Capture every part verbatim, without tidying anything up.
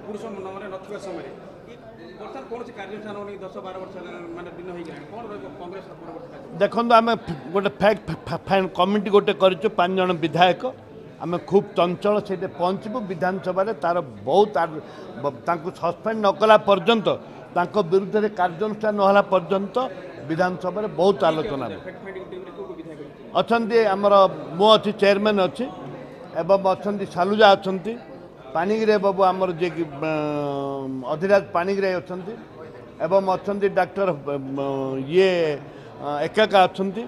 ପୁରୁଷ ମାନେ ନଥିବା ସମୟରେ ବର୍ତ୍ତମାନ କୌଣସି କାର୍ଯ୍ୟାନୁଷ୍ଠାନ ହଉନି। ଦଶ ବାର ବର୍ଷ ମାନେ ଦିନ ହେଇଗଲାଣି, କ'ଣ ରହିବ କଂଗ୍ରେସର ପରବର୍ତ୍ତୀ କାର୍ଯ୍ୟ? ଦେଖନ୍ତୁ, ଆମେ ଗୋଟେ ଫ୍ୟାକ୍ଟ କମିଟି ଗୋଟେ କରିଛୁ, ପାଞ୍ଚ ଜଣ ବିଧାୟକ। ଆମେ ଖୁବ୍ ଚଞ୍ଚଳ ସେଇଠି ପହଞ୍ଚିବୁ ବିଧାନସଭାରେ। ତାର ବହୁତ ତାଙ୍କୁ ସସ୍ପେଣ୍ଡ ନ କଲା ପର୍ଯ୍ୟନ୍ତ, ତାଙ୍କ ବିରୁଦ୍ଧରେ କାର୍ଯ୍ୟାନୁଷ୍ଠାନ ନ ହେଲା ପର୍ଯ୍ୟନ୍ତ ବିଧାନସଭାରେ ବହୁତ ଆଲୋଚନା ହେବ। ଅଛନ୍ତି ଆମର, ମୁଁ ଅଛି, ଚେୟାରମ୍ୟାନ୍ ଅଛି, ଏବଂ ଅଛନ୍ତି ସାଲୁଜା ଅଛନ୍ତି, ପାଣିଗ୍ରାହୀ ବାବୁ ଆମର ଯିଏକି ଅଧିରାଜ ପାଣିଗ୍ରାହୀ ଅଛନ୍ତି, ଏବଂ ଅଛନ୍ତି ଡାକ୍ତର ଇଏ ଏକାକା ଅଛନ୍ତି,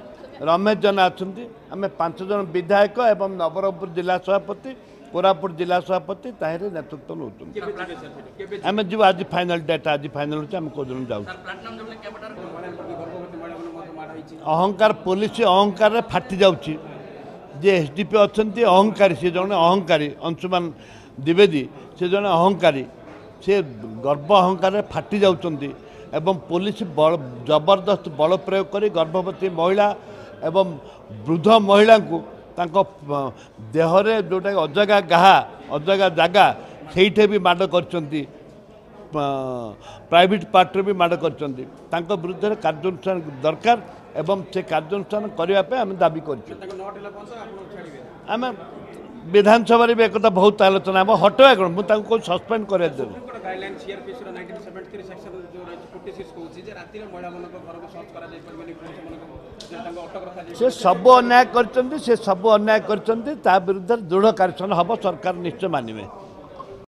ରମେଶ ଜେନା ଅଛନ୍ତି। ଆମେ ପାଞ୍ଚ ଜଣ ବିଧାୟକ ଏବଂ ନବରଙ୍ଗପୁର ଜିଲ୍ଲା ସଭାପତି, କୋରାପୁଟ ଜିଲ୍ଲା ସଭାପତି ତାହିଁରେ ନେତୃତ୍ୱ ନେଉଛନ୍ତି। ଆମେ ଯିବୁ ଆଜି, ଫାଇନାଲ ଡେଟ୍ ଆଜି ଫାଇନାଲ ହେଉଛି, ଆମେ କେଉଁଦିନ ଯାଉଛୁ। ଅହଙ୍କାର, ପୋଲିସ ଅହଙ୍କାରରେ ଫାଟି ଯାଉଛି। ଯେ ଏସ୍ ଡି ପି ଅଛନ୍ତି ଅହଙ୍କାରୀ, ସେ ଜଣେ ଅହଙ୍କାରୀ, ଅଂଶୁମାନ ଦ୍ୱିବେଦୀ ସେ ଜଣେ ଅହଙ୍କାରୀ। ସେ ଗର୍ବ ଅହଙ୍କାରରେ ଫାଟି ଯାଉଛନ୍ତି ଏବଂ ପୋଲିସ ବଳ ଜବରଦସ୍ତ ବଳ ପ୍ରୟୋଗ କରି ଗର୍ଭବତୀ ମହିଳା ଏବଂ ବୃଦ୍ଧ ମହିଳାଙ୍କୁ ତାଙ୍କ ଦେହରେ ଯେଉଁଟାକି ଅଜାଗା ଗାହା, ଅଜାଗା ଜାଗା, ସେଇଠି ବି ମାଡ଼ କରିଛନ୍ତି, ପ୍ରାଇଭେଟ୍ ପାର୍ଟରେ ବି ମାଡ଼ କରିଛନ୍ତି। ତାଙ୍କ ବିରୁଦ୍ଧରେ କାର୍ଯ୍ୟାନୁଷ୍ଠାନ ଦରକାର ଏବଂ ସେ କାର୍ଯ୍ୟାନୁଷ୍ଠାନ କରିବା ପାଇଁ ଆମେ ଦାବି କରିଛୁ। ଆମେ ବିଧାନସଭାରେ ବି ଏକଥା ବହୁତ ଆଲୋଚନା ହେବ। ହଟେଇବା କ'ଣ, ମୁଁ ତାଙ୍କୁ କହୁଛି ସସ୍ପେଣ୍ଡ କରିବା ଦେବୁ। ସେ ସବୁ ଅନ୍ୟାୟ କରିଛନ୍ତି, ସେ ସବୁ ଅନ୍ୟାୟ କରିଛନ୍ତି। ତା ବିରୁଦ୍ଧରେ ଦୃଢ଼ କାର୍ଯ୍ୟାନୁଷ୍ଠାନ ହେବ, ସରକାର ନିଶ୍ଚୟ ମାନିବେ।